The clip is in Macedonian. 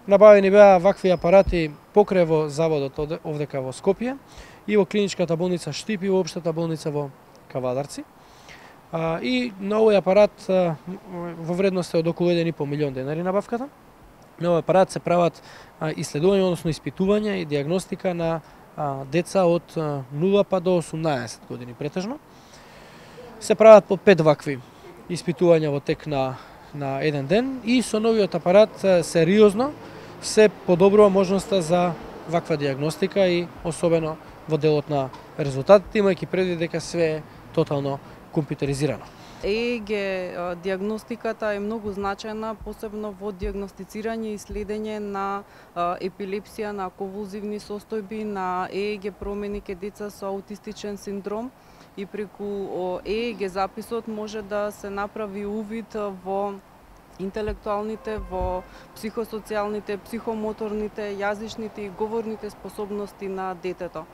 Набавени беа вакви апарати покрај во заводот овдека во Скопје и во клиничката болница Штип и во општата болница во Кавадарци. И на овој апарат во вредност од околу 1,5 милион денари набавката. На овој апарат се прават исследувања, односно испитувања и диагностика на деца од 0 па до 18 години претежно. Се прават по 5 вакви испитувања во тек на еден ден и со новиот апарат сериозно се подобрува можноста за ваква диагностика и особено во делот на резултатите, имајќи предвид дека све е тотално компјутеризирано. ЕЕГ диагностиката е многу значајна, посебно во диагностицирање и следење на епилепсија, на конвулзивни состојби, на ЕЕГ промени кај деца со аутистичен синдром и преку ЕЕГ записот може да се направи увид во интелектуалните, во психосоцијалните, психомоторните, јазичните и говорните способности на детето.